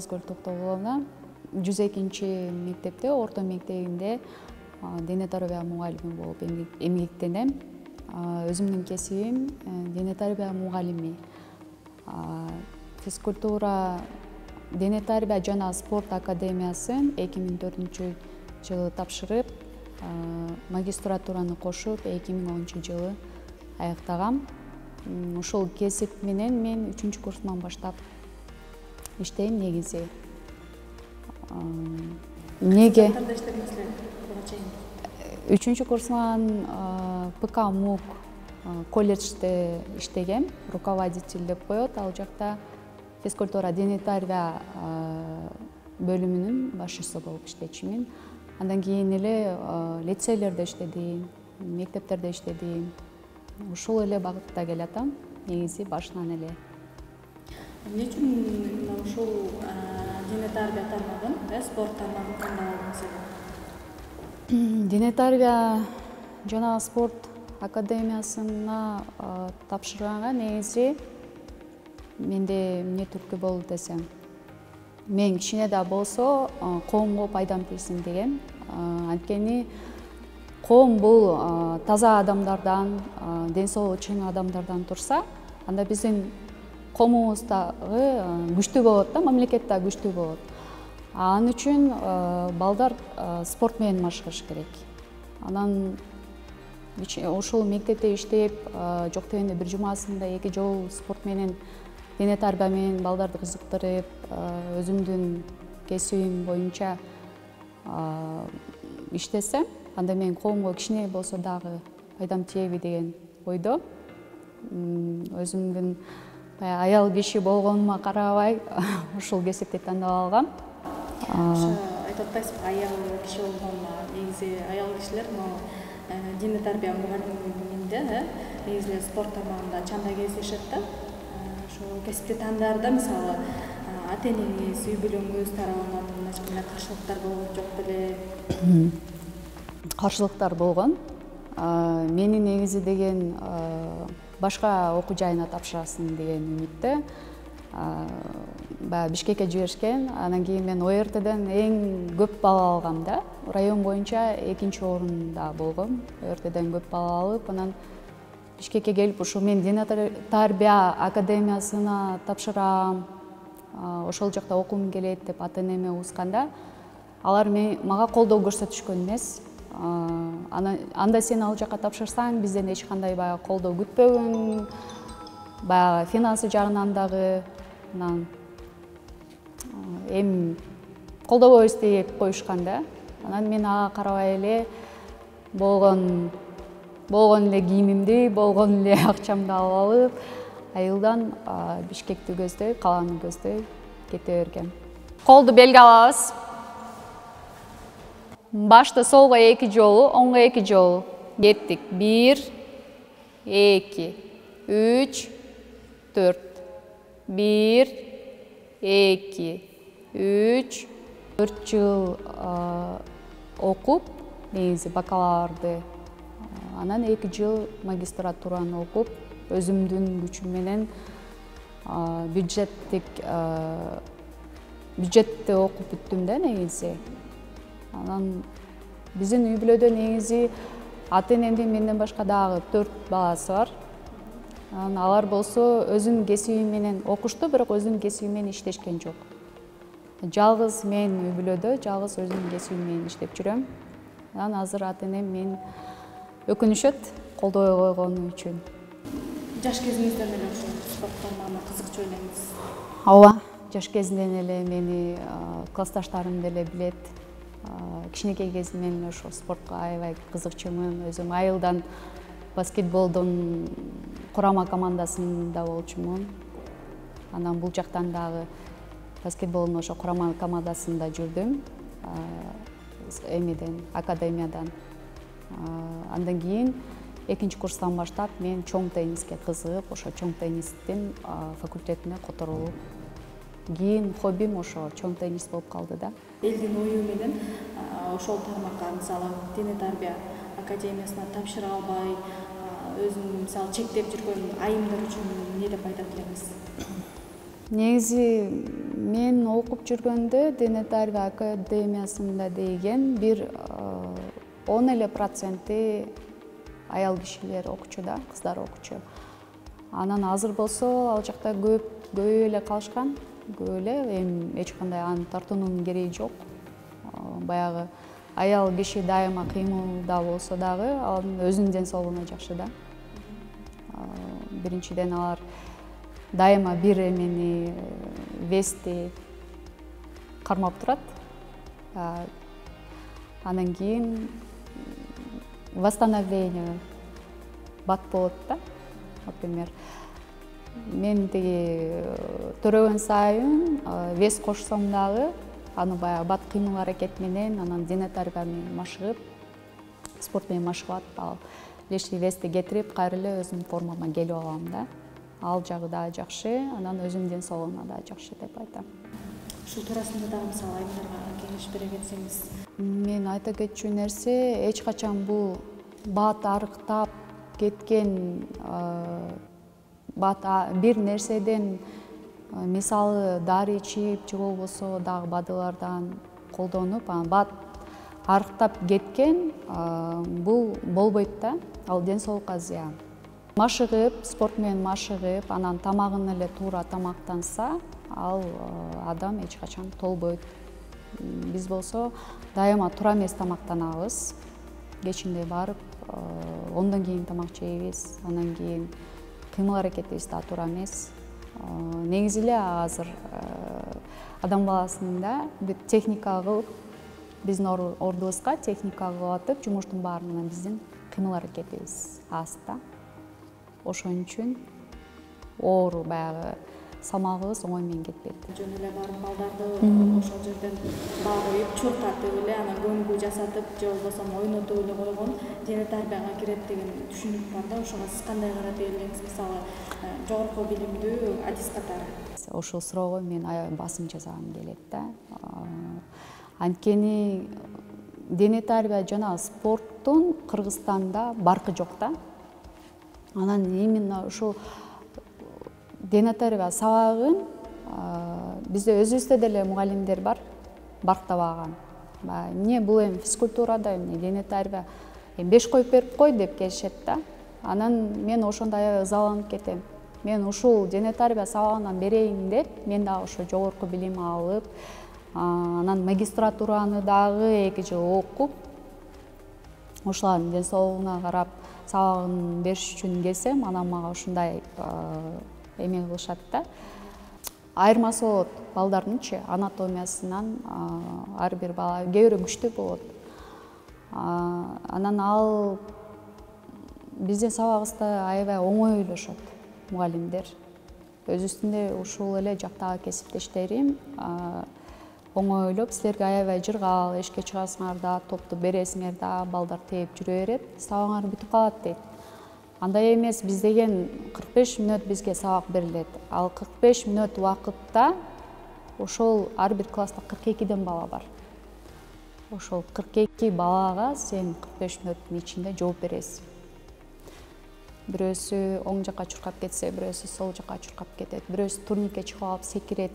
Назгүл Токтогуловна 102 мектепте, орто мектебинде дене тарбия мугалими болуп эмгектенем. Өзүмдүн кесибим дене тарбия мугалими. Физкультура, дене тарбия жана спорт академиясын 2004-жылы тапшырып, магистратураны кошуп 2010-жылы аяктагам. Ушул кесип менен мен 3-курсуман баштап иштейм негизи. Эмнеге? 3-курсуман ПК МУК колледжде иштегем, руководитель деп коет. Ал жакта физкультура дене тарбия бөлүмүнүн башчысы болуп иштечүмүн. Андан кийин эле лицейлерде иштедим, мектептерде иштедим. Ушул эле багытта келатам, негизи башынан эле. Эмне үчүн ушул дене тарбия тармагын, спорт тармагын тандадыңыз? Дене тарбия жана спорт академиясына тапшырганга негизи менде эмне түрткү болду десем, мен кичине да болсо коомго пайдам тийсин деген. Анткени коом бул таза адамдардан, ден соолугу чың адамдардан турса, анда биздин коомубуз дагы күчтүү болот да, мамлекет да күчтүү болот. Ал үчүн балдар спорт менен машыгыш керек. Анан ушул мектепте иштеп, жок дегенде бир жумасында 2 жолу спорт менен, дене тарбия менен балдарды кызыктырып, өзүмдүн кесибим боюнча иштесем, анда мен коомго кичине болсо дагы пайдам тиеби деген ойдо. Өзүмдүн аял киши болгонума карабай ушул кесипти тандап алгам. Айтып атпайсызбы, аял киши болгонуна? Негизи аял кишилер дене тарбия мугалиминде, негизи спорт тармагында чанда кездешет да. Ошол кесипти тандаарда мисалы ата-энеңиз, үй бүлөңүз тарабынан мындай каршылыктар болгон жок беле? Каршылыктар болгон. Мени негизи деген башка окуу жайына тапшырасың деген үмүттө. Баягы Бишкекке жиберишкен. Андан кийин мен ОРТден эң көп балл алгам да. Район боюнча 2-орунда болгом. ОРТден көп балл алып, анан Бишкекке келип, ушул мен дене тарбия академиясына тапшырам, ошол жакта окугум келет деп ата-энеме узганда, алар мага колдоо көрсөтүшкөн эмес. Анда сен ал жакка тапшырсаң, бизден эч кандай баягы колдоо күтпөгүн, баягы финансы жагынан дагы эми колдобойбуз деп коюшкан да. Анан мен ага карабай эле болгон эле кийимимди, болгон эле акчамды алып алып, айылдан Бишкекти көздөй, каланы көздөй кете бергем. Колду белге алабыз. Башты солго 2 жолу, оңго 2 жолу. Кеттик. 1, 2, 3, 4. 1, 2, 3, 4 жыл окуп, негизи бакалаврды, анан 2 жыл магистратураны окуп, өзүмдүн күчүм менен бюджетти окуп бүттүм да негизи. Анан биздин үй бүлөдө негизи ата-энемдин менден башка дагы 4 баласы бар. Анан алар болсо өзүнүн кесиби менен окушту, бирок өзүнүн кесиби менен иштешкен жок. Жалгыз мен үй бүлөдө, жалгыз өзүмдүн кесибим менен иштеп жүрөм. Анан азыр ата-энем мен өкүнүшөт колдобой койгону үчүн. Жаш кезиңизден эле ушул спорт тармагына кызыкчу элеңиз? Ооба, жаш кезинен эле мени классташтарым деле билет. Кичинекей кезимден эле ошол спортко аябай кызыкчумун. Өзүм айылдан баскетболдун курама командасында болчумун. Анан бул жактан дагы баскетболдун ошо курама командасында жүрдүм. Эмеден, академиядан. Андан кийин 2-курстан баштап мен чоң тенниске кызыгып, ошо чоң теннистин факультетине которулуп, кийин хоббим ошо чоң теннис болуп калды да. Элдин ою менен ошол тармакка, мисалы дене тарбия академиясына тапшыра албай, өзүн мисалы чектеп жүргөн айымдар үчүн эмне деп айта элеңиз? Негизи мен окуп жүргөндө дене тарбия академиясында деген бир 10% аял кишилер окучу да, кыздар окучу. Анан азыр болсо ал жакта көбөйүп эле калышкан, көп эле, эми эч кандай аны тартуунун кереги жок. Баягы аял киши дайыма кыймылда болсо дагы анын өзүнүн ден соолугуна жакшы да. Биринчиден алар дайыма бир эмени, вести кармап турат. Анан кийин восстановление бат болот да. Например, мен тиги төрөгөн сайын вес кошсом дагы аны баягы бат кыймыл аракет менен, анан дене тарбия менен машыгып, спорт менен машыгып ал лишний вести кетирип, кайра эле өзүмдүн формама келип алам да. Ал жагы дагы жакшы, анан өзүмдүн ден соолугуна дагы жакшы деп айтам. Ушул туурасында дагы мисалы айымдарга кеңеш бере кетсеңиз. Мен айта кетчү нерсе, эч качан бул бат арыктап кеткен бир нерседен, мисалы дары ичип же болбосо дагы БАДылардан колдонуп, бат арыктап кеткен, бул болбойт да. Ал ден соолукка зыян. Машыгып, спорт менен машыгып, анан тамагын эле туура тамактанса, ал адам эч качан толбойт. Биз болсо дайыма туура эмес тамактанабыз. Кечинде барып, ондон кийин тамак жейбиз, анан кийин кыймыл аракетибиз да туура эмес. Негизи эле азыр адам баласынын да бир техника кылып, биздин ордубузга техника кылып атып, жумуштун баарынан биздин кыймыл аракетибиз аз да. Ошон үчүн оор баягы салмагыбыз оңой менен кетпейт. Жөн эле барып балдарды ошол жерден баа коюп, чуркатып эле, анан көмгүү жасатып же болбосо ойнотуп эле койгон дене тарбияга кирет деген түшүнүк бар да. Ошого сиз кандай карап элеңиз, мисалы жогорку билимдүү адис катары? Ошол суроого мен аябай басым жасагым келет да. Анткени дене тарбия жана спорттун Кыргызстанда баркы жок да. Анан именно ушул дене тарбия сабагын бизде өзүбүздө деле мугалимдер бар, барктабаган. Эмне бул эми физкультурада, эмне дене тарбия 5 коюп берип кой деп келишет да. Анан мен ошондо аябай ызаланып кетем. Мен ушул дене тарбия сабагынан берейин деп, мен дагы ошо жогорку билим алып, анан магистратураны дагы 2 жыл окуп, ошолардын ден соолугуна карап сабагын бериш үчүн келсем, анан мага ушундай эме кылышат да. Айырмасы болот балдардынчы анатомиясынан, ар бир бала кээ бирөө күчтүү болот. Анан ал биздин сабагыбызда аябай оңой ойлошот мугалимдер. Өзүбүздүн ушул эле жактагы кесиптештерим оңой ойлоп, силерге аябай жыргал, эшикке чыгасыңар да, топту бересиңер да, балдар тээп жүрө берет, сабагыңар бүтүп калат дейт. Андай эмес, биз деген 45 мүнөт бизге сабак берилет. Ал 45 мүнөт убакытта ошол ар бир класста 42ден бала бар. Ошол 42 балага сен 45 мүнөттүн ичинде жооп бересиң. Бирөөсү оң жакка чуркап кетсе, бирөөсү сол жакка чуркап кетет, бирөөсү турникке чыгып алып секирет.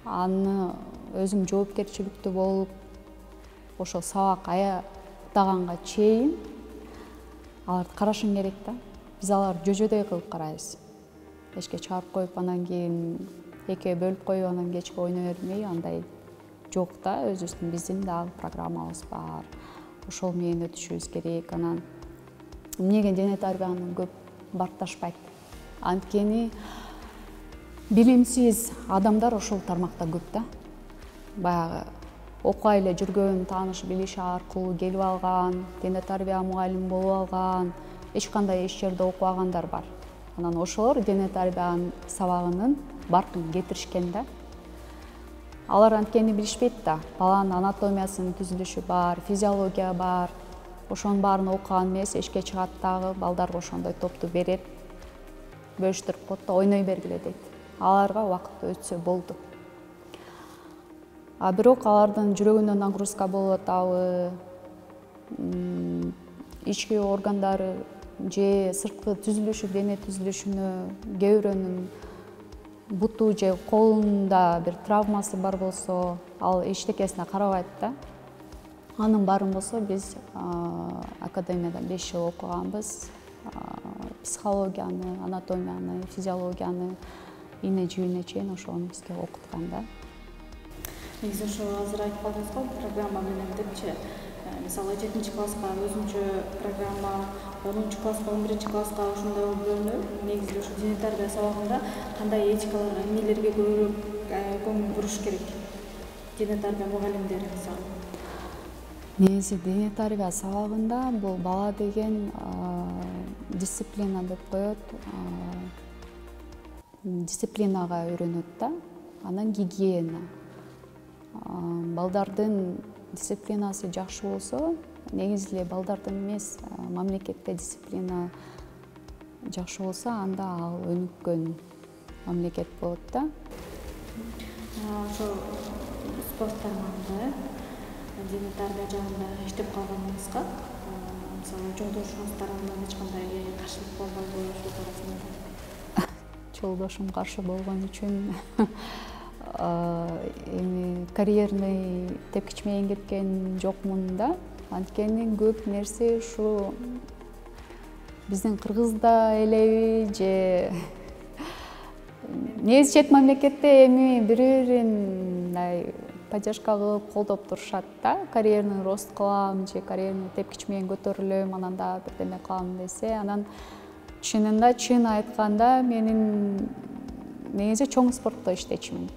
Аны өзүң жоопкерчиликтүү болуп, ошол сабак аяктаганга чейин аларды карашың керек да. Биз аларды жөжөдөй кылып карайбыз. Эшикке чыгарып коюп, анан кийин экөө бөлүп коюп, анан кечке ойной бермей, андай жок да. Өзүбүздүн биздин дагы программабыз бар. Ошол менен өтүшүбүз керек. Анан эмнеге дене тарбияны көп баркташпайт? Анткени билимсиз адамдар ошол тармакта көп да. Баягы окуй эле жүргөн, тааныш билиш аркылуу келип алган, дене тарбия мугалими болуп алган, эч кандай эч жерде окубагандар бар. Анан ошолор дене тарбиянын сабагынын баркын кетиришкен да. Алар анткени билишпейт да. Баланын анатомиясынын түзүлүшү бар, физиология бар. Ошонун баарын окуган эмес, эшикке чыгат дагы, балдарга ошондой топту берет, бөлүштүрүп коет да, ойной бергиле дейт. Аларга убакыт өтсө болду. Бирок алардын жүрөгүнө нагрузка болуп атабы, ички органдары же сырткы түзүлүшү, дене түзүлүшүнө кээ бирөөнүн буту же колунда бир травмасы бар болсо, ал эчтекесине карабайт да. Анын баарын болсо биз академияда 5 жыл окуганбыз. Психологияны, анатомияны, физиологияны ийне жибине чейин ошону бизге окуткан да. Негизи ошо азыр айтып калдыңыз го программа менен депчи. Мисалы 7-класска өзүнчө программа, 10-класска, 11-класска ошондой бөлүнөт. Негизи ошо диний тарбия сабагында кандай этикаларга, эмнелерге көбүрөөк көңүл буруш керек? Диний тарбия мугалимдери мисалы. Негизи диний тарбия сабагында бул бала деген дисциплина деп коет. Дисциплинага үйрөнөт да. Анан гигиена. Балдардын дисциплинасы жакшы болсо, негизи эле балдардын эмес, мамлекетте дисциплина жакшы болсо, анда ал өнүккөн мамлекет болот да. Ошо спорт тармагында, диний тарбия жагында иштеп калганыңызга, мисалы жолдошуңуз тарабынан эч кандай каршылык болбойбу ошол туурасында? Жолдошум каршы болгон үчүн эми карьерный тепкич менен кеткен жокмун да. Анткени көп нерсе ушу биздин кыргызда элеби же негизи чет мамлекетте эми бири-бирин мындай поддержка кылып колдоп турушат да. Карьерный рост кылам же карьерный тепкич менен көтөрүлөм, анан да бирдеме кылам десе, анан чынында чын айтканда менин негизи чоң спортто иштечүмүн.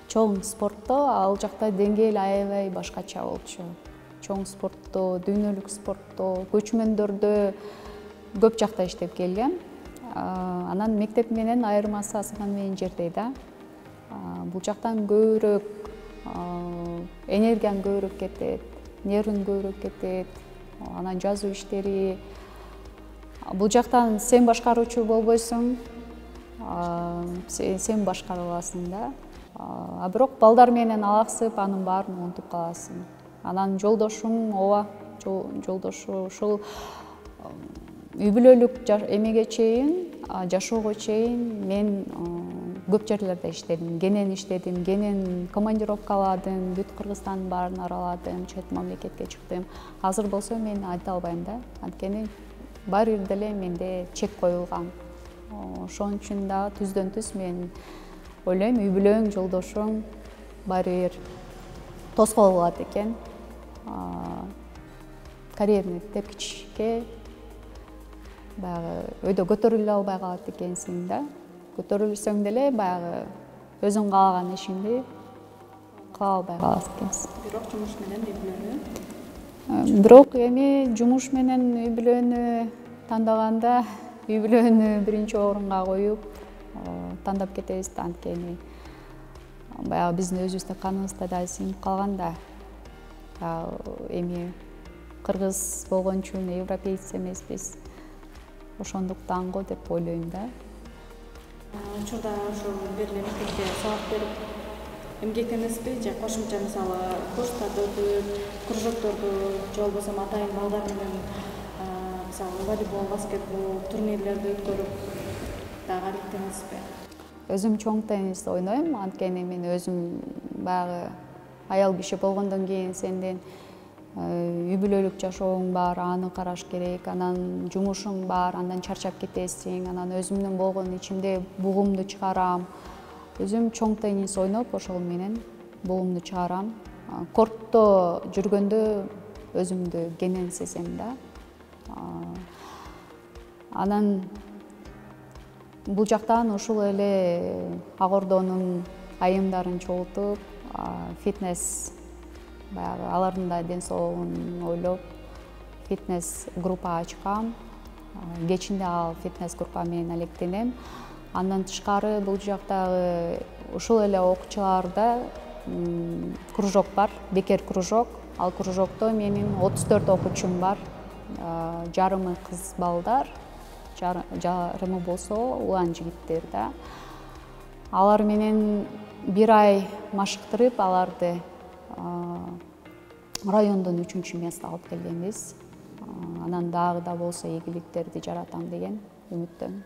Чоң спортто ал жакта деңгээл аябай башкача болчу. Чоң спортто, дүйнөлүк спортто, көчмөндөрдө көп жакта иштеп келгем. Анан мектеп менен айырмасы асман менен жердей да. Бул жактан көбүрөөк энергияң көбүрөөк кетет, нервиң көбүрөөк кетет. Анан жазуу иштери. Бул жактан сен башкаруучу болбойсуң, сен башкара аласың да. Бирок балдар менен алаксып, анын баарын унутуп каласың. Анан жолдошум жолдошу ушул үй бүлөлүк эмеге чейин, жашоого чейин мен көп жерлерде иштедим, кенен командировкаладым, бүт Кыргызстандын баарын араладым, чет мамлекетке чыктым. Азыр болсо мен айта албайм да, анткени баары бир деле менде чек коюлган. Ошон үчүн да түздөн түз мен ойлойм, үй бүлөң, жолдошуң баары бир тоскоол болот экен. Карьерный тепкичке баягы өйдө көтөрүлө албай калат экенсиң да. Көтөрүлсөң деле баягы өзүң каалаган ишиңди кыла албай калат экенсиң. Бирок жумуш менен үй бүлөнү. Бирок эми жумуш менен үй бүлөнү тандаганда үй бүлөнү биринчи орунга коюп тандап кетебиз да, анткени баягы биздин өзүбүздө каныбызда да сиңип калган да. Эми кыргыз болгон үчүн европеец эмеспиз. Ошондуктан го деп ойлойм да. Учурда ошо бериле мектепте сабак берип эмгектенесизби же кошумча мисалы курстарды өтүп, кружокторду же болбосо атайын балдар менен мисалы волейбол, баскетбол турнирлерди өткөрүп дагы алектенесизби? Өзүм чоң теннис ойнойм, анткени мен өзүм баягы аял киши болгондон кийин сендин үй бүлөлүк жашооң бар, аны караш керек, анан жумушуң бар, андан чарчап кетесиң, анан өзүмдүн болгон ичимде бугумду чыгарам. Өзүм чоң теннис ойноп, ошол менен бугумду чыгарам. Кортто жүргөндө өзүмдү кенен сезем да. Анан бул жактан ушул эле Ак Ордонун айымдарын чогултуп, фитнес баягы алардын да ден соолугун ойлоп фитнес группа ачкам. Кечинде ал фитнес группа менен алектенем. Андан тышкары бул жактагы ушул эле окуучуларда кружок бар, бекер кружок. Ал кружокто менин 34 окуучум бар. Жарымы кыз балдар, жарымы болсо улан жигиттер да. Алар менен бир ай машыктырып, аларды райондон 3-чү место алып келгенбиз. Анан дагы да болсо ийгиликтерди жаратам деген үмүттөмүн.